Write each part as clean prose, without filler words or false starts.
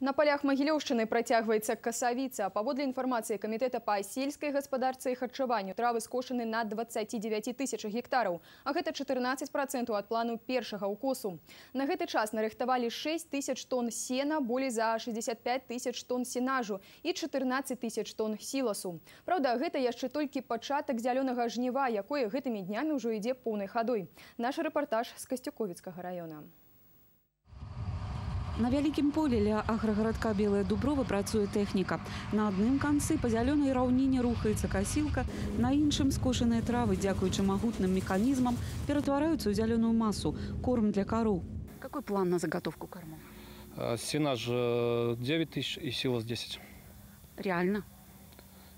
На полях Магілёўшчыны працягваецца касавіца. Паводле інфармацыі камітэта па сельскай гаспадарцы і харчаванню, травы скошаны на 29 тысяч гектараў, а гэта 14% ад плану першага ўкосу. На гэты час нарыхтавалі 6 тысяч тонн сена, болей за 65 тысяч тонн сенажу і 14 тысяч тонн сіласу. Праўда, гэта яшчэ толькі пачатак зялёнага жніва, якое гэтымі днямі ўжо ідзе поўнай хадой. Наш рэпартаж з Касцюковіцкага раёна. На вялікім полі ля аграгарадка Белая Дуброва працуе тэхніка. На адным канцы па зялёнай раўніне рухаецца касілка, на іншым скошаныя травы, дзякуючы магутным механізмам, ператвараюцца ў зялёную масу – корм для кароў. Какой план на заготовку кормов? Сенаж 9 тысяч и силос 10. Реально?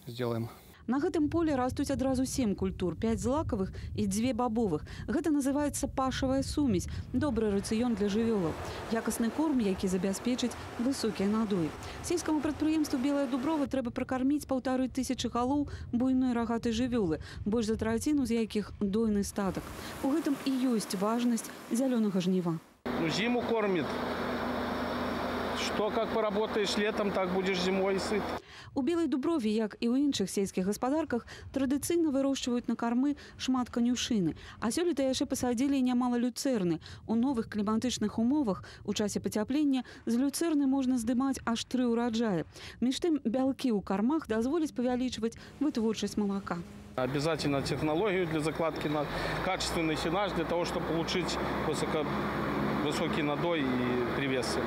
Сделаем. На гэтым полі растуць адразу 7 культур, 5 злакавых і 2 бабовых. Гэта называецца пашавая сумесь, добры рацыён для жывёлаў. Якасны корм, які забяспечыць высокія надоі. Сельскаму прадпрыемству Белая Дуброва трэба пракарміць 1500 галоў буйной рагатай жывёлы, больш за траціну з якіх дойны статак. У гэтым і ёсць важнасць зялёнага жніва. Зиму кормит. Что как поработаешь летом, так будешь зимой сыт. У Белай Дуброве, як і ў іншых сельскіх гаспадарках, традыцыйна вырошчваюць на кармы шмат канюшыны. А сёлета яшчэ пасадзілі нямала люцэрны. У новых кліматычных умовах у часе пацяплення з люцэрны можна здымаць аж 3 ураджаі. Між тым, бялкі ў кармах дазволяць павялічваць вытворчасць малака. Обязательно технологию для закладки на качественный сенаж, для того, чтобы получить высокий надой и привесы.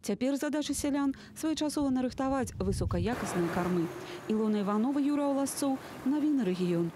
Цяпер задача сялян своечасова нарыхтаваць высокаякасныя кармы. Ілона Іванова, Юра Оласцоў, навіны рэгіён.